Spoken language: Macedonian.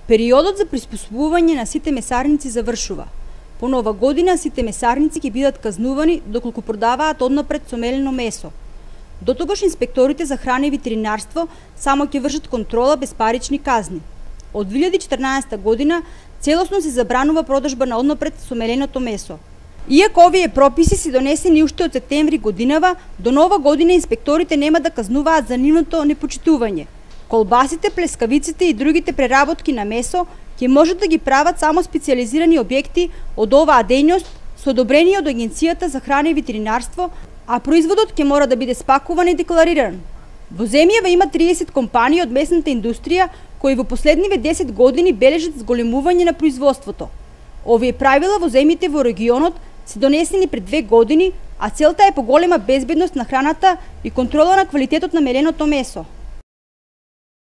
Периодот за приспособување на сите месарници завршува. По нова година сите месарници ќе бидат казнувани доколку продаваат однапред сомелено месо. Дотогаш инспекторите за храна и ветеринарство само ќе вршат контрола без парични казни. Од 2014 година целосно се забранува продажба на однапред сомеленото месо. Иако овие прописи се донесени уште од септември годинава, до нова година инспекторите нема да казнуваат за нивното непочитување. Колбасите, плескавиците и другите преработки на месо ќе можат да ги прават само специализирани објекти од оваа дејност со одобрение од Агенцијата за храна и ветеринарство, а производот ќе мора да биде спакуван и деклариран. Во земјава има 30 компании од месната индустрија кои во последниве 10 години бележат зголемување на производството. Овие правила во земјите во регионот се донесени пред 2 години, а целта е поголема безбедност на храната и контрола на квалитетот на меленото месо.